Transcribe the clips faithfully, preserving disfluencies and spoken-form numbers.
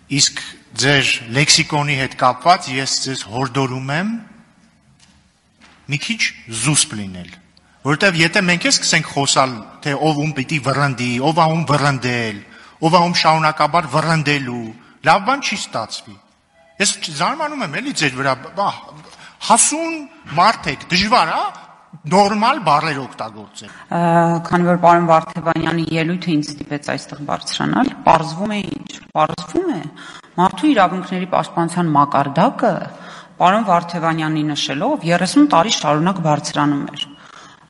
Իսկ ձեր լեքսիկոնի հետ կապված ես ձեզ հորդորում եմ մի քիչ զուսպ լինել, որովհետև եթե մենք ես սկսենք խոսալ, թե ով ում պիտի վռնդի, ով ում վռնդել, ով ում շարունակաբար վռնդելու, լավ բան չի ստացվի։ Ես զարմանում եմ էլի ձեր վրա, հասուն մարդ եք, դժվար է նորմալ բառեր օգտագործել։ Քանի որ պարոն Վարդևանյանի ելույթը ինձ ստիպեց այստեղ բարձրանալ, պարզվում է ինչ, պարզվում է մարդու իրավունքների պաշտպանության մակարդակը պարոն Վարդևանյանի նշելով երեսուն տարի շարունակ բարձրանում էր։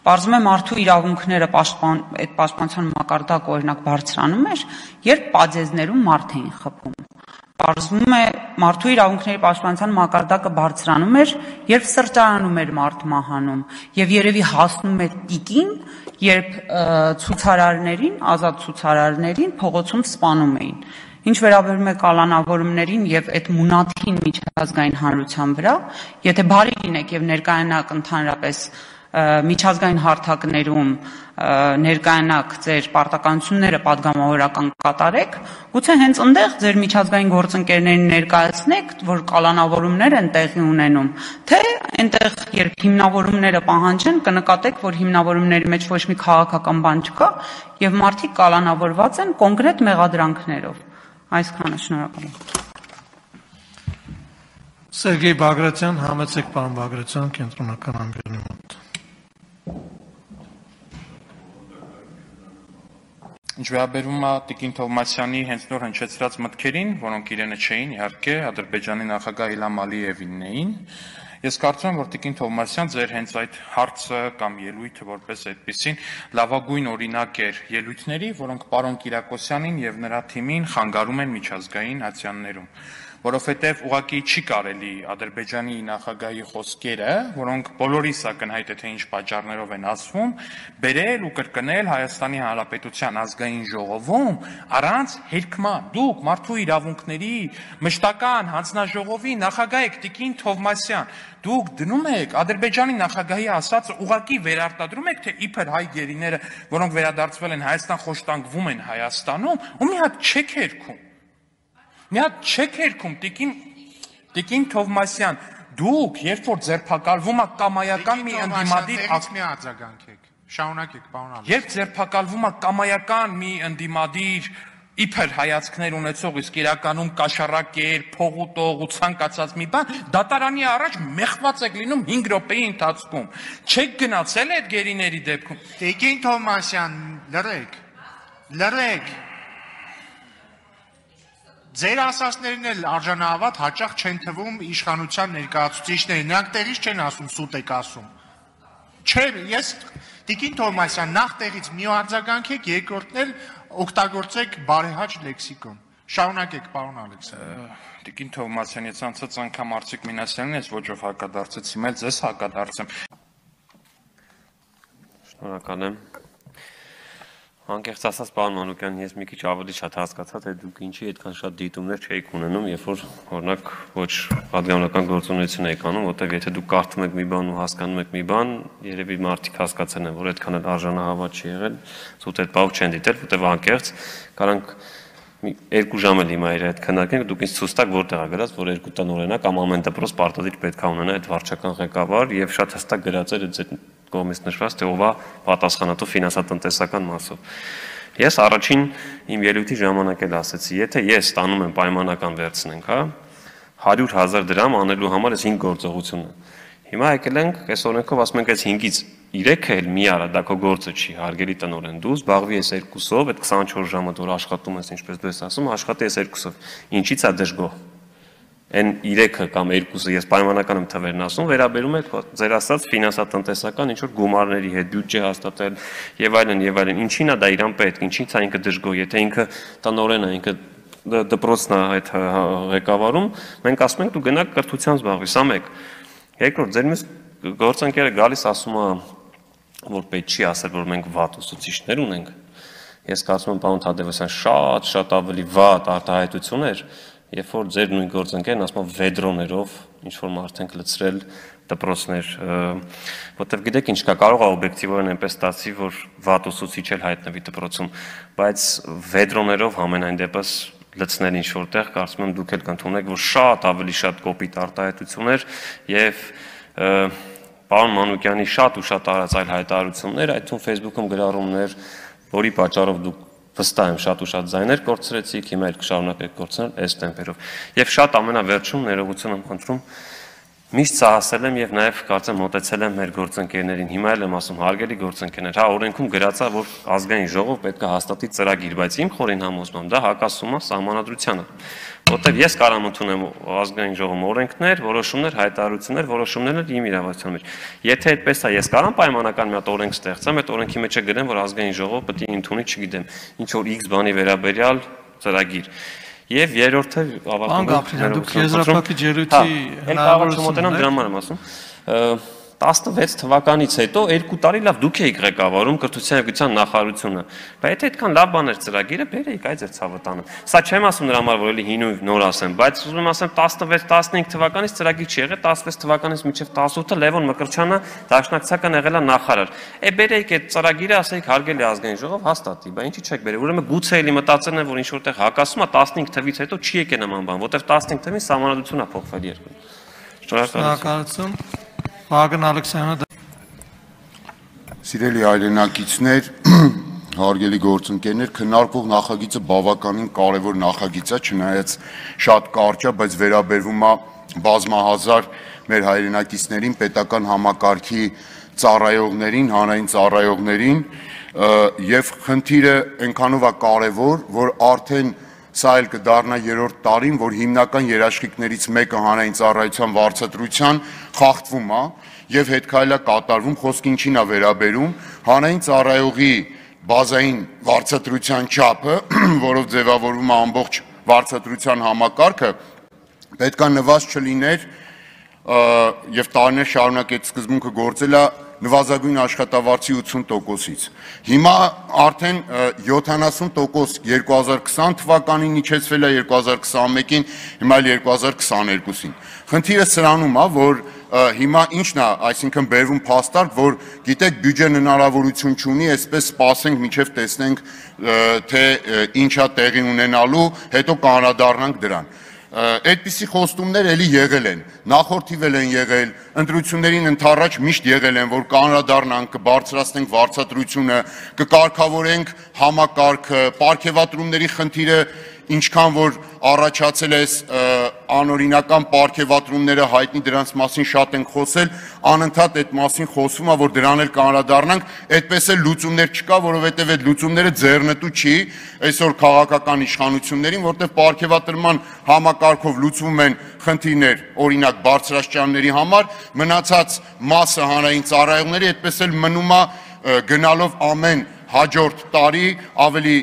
Պարզվում է մարդու իրավունքները պաշտպան, այդ պաշտպանության մակարդակը օրինակ բարձրանում էր, երբ պատեզներում մարդ էին խփում։ Պարզվում է մարդու իրավունքների պաշտպանության մակարդակը բարձրանում էր, երբ սրճարանում էր մարդ մահանում, եւ երևի հասնում է տիկին, երբ ցուցարարներին, ազատ ցուցարարներին փողոցում սպանում էին։ Ինչ վերաբերում է կալանավորումներին եւ այդ մունաթին միջազգային հանրության վրա, եթե բարի լինեք եւ ներկայանաք ընդհանրապես միջազգային հարթակներում ներկայանաք ձեր պարտականությունները պատգամավորական կատարեք, գուցե հենց այնտեղ ձեր միջազգային գործընկերներին ներկայացնեք, որ կալանավորումներ են տեղի ունենում, թե այնտեղ երբ հիմնավորումները պահանջեն, կնկատեք, որ հիմնավորումների մեջ ոչ մի քաղաքական բան չկա եւ մարդիկ կալանավորված են կոնկրետ մեղադրանքներով։ Այսքանը, շնորհակալ եմ։ Սերգեյ Բագրատյան, համեցեք պարոն Բագրատյան, կենտրոնական ամբիոնի մոտ։ Ինչ վերաբերում է Տիկին Թովմասյանի հենց նոր հնչեցրած մտքերին, որոնք իրենը չէին, իհարկե, Ադրբեջանի նախագահ Իլհամ Ալիևին էին, ես կարծում եմ, որ Տիկին Թովմասյան ձեր հենց այդ հարցը կամ ելույթը որպես այդպեսին լավագույն օրինակ էր ելույթների, որոնք պարոն Կիրակոսյանին եւ նրա թիմին խանգարում են միջազգային ատյաններում, որովհետև ուղղակի չի կարելի Ադրբեջանի նախագահի խոսքերը, որոնք բոլորիս ակնհայտ է թե ինչ պատճառներով են ասվում, բերել ու կրկնել Հայաստանի Հանրապետության ազգային ժողովում առանց հերքման։ Դուք մարդու իրավունքների մշտական հանձնաժողովի նախագահ եք Տիկին Թովմասյան, դուք դնում եք Ադրբեջանի նախագահի ասածը ուղղակի վերարտադրում եք, թե իբր հայ գերիները, որոնք վերադարձվել են Հայաստան, խոշտանգվում են Հայաստանում, ու մի հատ չեք հերքում։ Մի հատ չեք հերքում, Տիկին Թովմասյան, դուք, երբ որ ձերբակալվում ա կամայական մի ընդդիմադիր մի արձագանքեք, շարունակեք, պարոն Ալեքսյան։ Երբ ձերբակալվում ա կամայական մի ընդդիմադիր իբր հայացքներ ունեցող, իսկ իրականում կաշառակեր, փողուտող ու ցանկացած մի բան, դատարանի առաջ մեղված եք լինում հինգ րոպեի ընթացքում։ Չեք գնացել այդ գերիների դեպքում։ Տիկին Թովմասյան, լռեք, լռեք։ Ձեր ասածներն էլ արժանահավատ հաճախ չեն թվում իշխանության ներկայացուցիչների, նրանք տեղից չեն ասում, սուտ եք ասում։ Չէ, ես Տիկին Թովմասյան, նախ տեղից մի արձագանքեք, երկրորդն էլ օգտագործեք բարեհաճ լեքսիկոն։ Շարունակեք, պարոն Ալեքսյան։ Տիկին Թովմասյան, ես անցած անգամ Արծիկ Մինասյանին ես ոչով հակադարձեցի, մեծ ես հակադարձեմ։ Շնորհակալ եմ։ Անկեղծ ասած, պարոն Մանուկյան, ես մի քիչ ավելի շատ հասկացա, թե դուք ինչի այդքան շատ դիտումներ չէիք ունենում, երբ որ օրինակ ոչ պատգամավորական գործունեություն եք անում, որտեղ եթե դուք կարդում եք մի բան ու հասկանում եք մի բան, երևի մարդիկ հասկացել են, որ այդքան էլ արժանահավատ չի եղել, զուտ այդ բավ չեն դիտել, որտեղ անկեղծ կարանք երկու ժամ էլ հիմա իր այդ քննարկենք, դուք ինձ ցույց տաք որտեղ է գրած, որ երկու տնօրենը կամ ամեն դպրոց պարտադիր պետք է ունենա այդ վարչական ղեկավար եւ շատ հստակ գրած էր այդ կողմից նշված, թե ով է պատասխանատու ֆինանսատնտեսական մասով։ Ես առաջին իմ ելույթի ժամանակ էլ ասեցի, եթե ես ստանում եմ պայմանական վերցնենք, հա, հարյուր հազար դրամ անելու համար էս հինգ գործողությունը։ Հիմա եկել ենք, այս օրենքով ասում ենք, այս հինգից երեքը էլ մի արա, դա քո գործը չի, հարգելի տնօրեն, դու զբաղվի ես երկուսով, այդ քսանչորս ժամը որ աշխատում ես, ինչպես դու ես ասում, աշխատի ես երկուսով։ Ինչի՞ց է դժգոհ։ Այն երեքը կամ երկուսը ես պայմանական եմ թվերն ասում, վերաբերում է ձեր ասած ֆինանսատնտեսական ինչ որ գումարների հետ բյուջե հաստատել եւ այլն եւ այլն։ Ինչին է դա իրան պետք, ինչից է ինքը դժգոհ, եթե ինքը տնօրեն է, ինքը դպրոցն է այդ ղեկավարում, մենք ասում ենք դու գնա կրթության զբաղվի, սա մեկ։ Երկրորդ, ձեր մյուս գործընկերը գալիս ասում է, որ պետք չի ասել, որ մենք վատ ուսուցիչներ ունենք։ Ես կարծում եմ, պարոն Թադևոսյան, շատ շատ ավելի վատ արտահայտություն էր, երբ որ ձեր նույն գործընկերն ասում է վեդրոներով ինչ որ մարդ ենք լցրել դպրոցներ, որտեվ գիտեք ինչ կա, կարող է օբյեկտիվորեն այնպես ստացի, որ վատ ուսուցիչ էլ հայտնվի դպրոցում, բայց վեդրոներով համենայն դեպս լցնել ինչ որտեղ, կարծում եմ դուք էլ կընդունեք, որ շատ ավելի շատ կոպիտ արտահայտություններ եւ պարոն Մանուկյանի շատ ու շատ արած այլ հայտարարություններ, այդ թվում Facebook-ում գրառումներ, որի պատճառով դուք վստահ եմ շատ ու շատ ձայներ կորցրեցիք, հիմա էլ կշարունակեք կորցնել այս տեմպերով։ Եվ շատ ամենավերջում ներողություն եմ խնդրում, միշտ սահասել եմ եւ նաեւ կարծեմ մոտեցել եմ մեր գործընկերներին, հիմա էլ եմ ասում հարգելի գործընկերներ, հա օրենքում գրած է, որ ազգային ժողով պետք է հաստատի ծրագիր, բայց իմ խորին համոզմամբ դա հակասում է սահմանադրությանը, որտեղ ես կարող եմ ընդունեմ ազգային ժողովում օրենքներ, որոշումներ, հայտարարություններ, որոշումներն իմ իրավասության մեջ։ Եթե այդպես է, ես կարող եմ պայմանական մի հատ օրենք ստեղծեմ, այդ օրենքի մեջ գրեմ, որ ազգային ժողովը պետք է ընդունի, չգիտեմ, ինչ որ X բանի վերաբերյալ ծրագիր։ Եվ երրորդը ավարտում դուք եզրափակիչ ելույթի հնարավորությունն դրա համար եմ ասում տասնվեց թվականից հետո երկու տարի լավ դուք եք ղեկավարում կրթության եւ գիտության նախարարությունը բայց եթե այդքան լավ բաներ ծրագիրը բերեիք այ ձեր ցավը տանը սա չեմ ասում նրա համար որ էլի հին ու նոր ասեմ բայց ուզում եմ ասեմ տասնվեց տասնհինգ թվականից ծրագիր չի եղել տասնվեց թվականից մինչեւ տասնութը Լևոն Մկրտչյանը դաշնակցական եղել է նախարար է բերեիք այդ ծրագիրը ասեիք հարգելի ազգային ժողով հաստատի բայց ինչի՞ չեք բերել ուրեմն գուցե էլի մտածել են որ ինչ որտեղ հակասում է տասնհինգ թվից հետո չի եկել նման բան որտեղ տասնհինգ թվին սահմանադրությունն է փոխվել երկրում շնորհակալություն Վագն Ալեքսանդրը Սիրելի հայրենակիցներ, հարգելի գործընկերներ, քննարկվող նախագիծը բավականին կարևոր նախագիծ է, չնայած շատ կարճ է, բայց վերաբերվում է բազմահազար մեր հայրենակիցներին, պետական համակարգի ծառայողներին, հանրային ծառայողներին, եւ խնդիրը այնքանով է կարևոր, որ արդեն սա էլ կդառնա երրորդ տարին, որ հիմնական երաշխիքներից մեկը հանրային ծառայության վարձատրության խախտվում է եւ հետքայլա կատարվում, խոսքը ինչին է վերաբերում, հանրային ծառայողի բազային վարձատրության չափը, որով ձևավորվում է ամբողջ վարձատրության համակարգը, պետք է նվազ չլիներ եւ տարիներ շարունակ այդ սկզբունքը գործել է նվազագույն աշխատավարձի ութսուն տոկոսից։ Հիմա արդեն յոթանասուն տոկոս երկու հազար քսան թվականին իջեցվել է երկու հազար քսանմեկին, հիմա էլ երկու հազար քսաներկուսին։ Խնդիրը սրանում է, որ հիմա ինչն է, այսինքն բերվում փաստարկ, որ գիտեք բյուջեն հնարավորություն չունի, այսպես սպասենք մինչև տեսնենք թե ինչ է տեղի ունենալու, հետո կանրադառնանք դրան։ Այդպիսի խոստումներ էլի եղել են, նախորդիվ էլ են եղել, ընտրություններին ընդառաջ միշտ եղել են, որ կանրադառնանք, կբարձրացնենք վարձատրությունը, կկարգավորենք համակարգը, պարգևատրումների խնդիրը ինչքան որ առաջացել է անօրինական պարգևատրումները հայտնի դրանց մասին շատ ենք խոսել, անընդհատ այդ մասին խոսվում է, որ դրան էլ կանրադառնանք, այդպես էլ լուծումներ չկա, որովհետև այդ լուծումները ձեռնտու չի այսօր քաղաքական իշխանություններին, որտեղ պարգևատրման համակարգով լուծվում են խնդիրներ, օրինակ բարձրաստիճանների համար, մնացած մասը հանրային ծառայողների այդպես էլ մնում է գնալով ամեն հաջորդ տարի ավելի